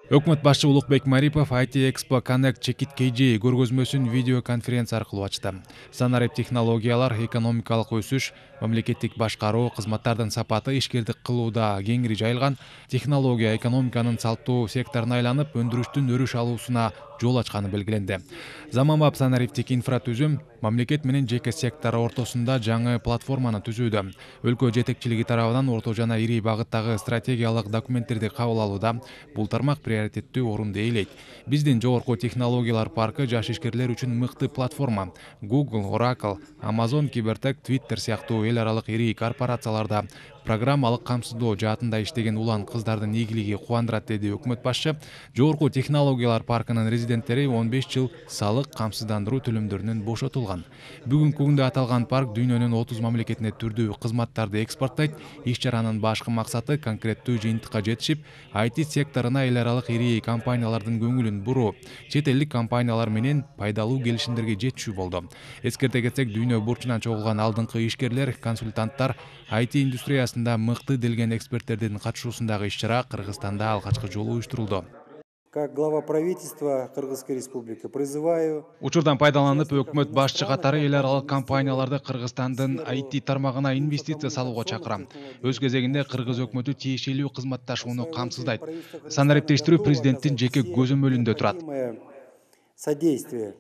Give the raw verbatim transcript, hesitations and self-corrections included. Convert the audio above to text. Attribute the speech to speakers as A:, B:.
A: Өкмөт башчы Улукбек Марипов ай ти Expo Connect Чекит кей джи көргөзмөсүн видео конференция аркылуу ачты. Санарип технологиялар, экономикалык өсүш, мамлекеттик башкаруу, кызматтардын сапаты ишкердик кылууда кеңири жайылган, технология экономиканын салттуу секторуна айланып, өндүрүштүн өрүш алуусуна жол ачканы белгиленди. Заманбап санариптик инфратүзүм мамлекет менен жеке сектор ортосунда жаңы платформаны түзүүдө. Өлкө жетекчилиги тарабынан орто жана ири багыттагы стратегиялык документтерди кабыл алууда. Бул тармак приоритеттүү орунду ээлейт. Биздин жогорку технологиялар паркы жаш ишкерлер үчүн мыкты платформа. Google, Oracle, Amazon, Кибертек, Twitter сыяктуу эл аралык ири корпорацияларда программалык камсыздоо жаатында иштеген улан кыздардын ийгилиги кубандырат, деди өкмөт башчы. Жогорку технологиялар паркынын резиденттери он беш жыл салык камсыздандыруу төлөмдөрүнөн бошотулган. Бүгүнкү күндө аталган парк дүйнөнүн отуз мамлекетине түрдүү кызматтарды экспорттойт. Иш-чаранын башкы максаты конкреттүү жыйынтыкка жетишип, ай ти секторуна эл аралык ири компаниялардын көңүлүн буруу, чет элдик компаниялар менен пайдалуу келишимдерге жетишүү болду. Эскерте кетсек, дүйнө бурчунан чогулган алдыңкы ишкерлер, консультанттар, ай ти индустриясында мыкты делген эксперттердин катышуусундагы иш-чара Кыргызстанда алгачкы жолу уюштурулду.
B: Как глава правительства Кыргызской республики призываю.
A: Учурдан пайдаланып, өкмөт башчы катары эл аралык компанияларды Кыргызстандын ай ти тармагына инвестиция салууга чакырам. Өз кезегинде Кыргыз өкмөтү тиешелүү кызматташууну камсыздайт. Санариптештирүү президенттин жеке көзөмөлүндө турат.
B: Содействие